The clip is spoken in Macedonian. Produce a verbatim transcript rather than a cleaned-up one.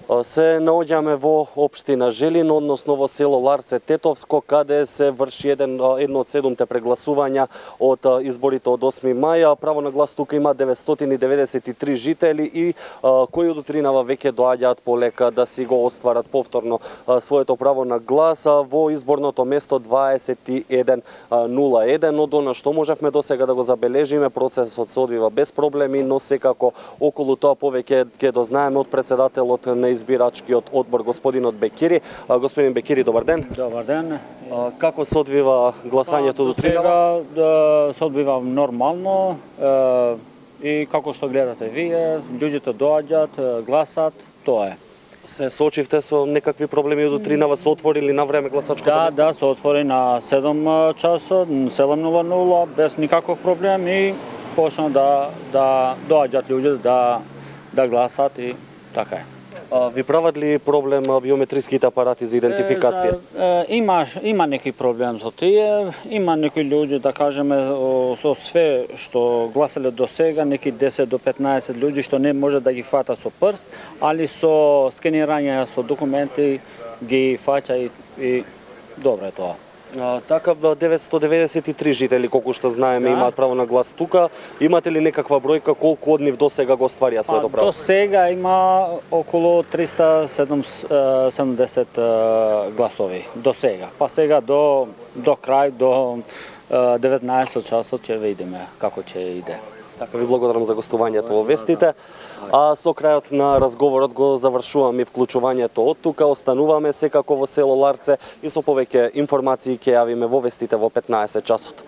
Се наоѓаме во општина Желин, односно во село Ларце Тетовско, каде се врши еден, едно од седумте прегласувања од изборите од осми мај. Право на глас тука има деветстотини деветдесет и три жители и кои од утринава веќе доаѓаат полека да си го остварат повторно своето право на глас во изборното место дваесет и еден нула еден. Од она што можевме досега да го забележиме, процесот се одвива без проблеми, но секако околу тоа повеќе ќе дознаеме од председателот на избирачкиот одбор господинот Бекири. Господин Бекири, добар ден. Добар ден. Како се одвива гласањето до сега? Сега се одвива нормално и како што гледате вие, луѓето доаѓаат, гласат, тоа е. Се соочивте со некакви проблеми од утринава, се отворили на време гласачкото Да, место? да, се отвори на седум часот, седум нула нула, без никаков проблем и почна да да доаѓаат луѓе да да гласат и така е. А, ви прават ли проблем биометриските апарати за идентификација? Е, е, има, има неки проблем со тие, има некои луѓе, да кажеме, со све што гласале до сега, неки десет до петнаесет луѓе што не може да ги фата со прст, али со скенирање со документи ги фаќа и, и добро е тоа. А, така деветстотини деветдесет и три жители, колку што знаеме, Да. имаат право на глас тука. Имате ли некаква бројка колку од нив до сега го остварија своето право? До сега има околу триста седумдесет гласови до сега. Па сега до до крај до деветнаесет часот ќе видиме како ќе иде. Така, ви благодарам за гостувањето во вестите. А со крајот на разговорот го завршуваме и вклучувањето од тука. Остануваме секако во село Ларце и со повеќе информации ќе јавиме во вестите во петнаесет часот.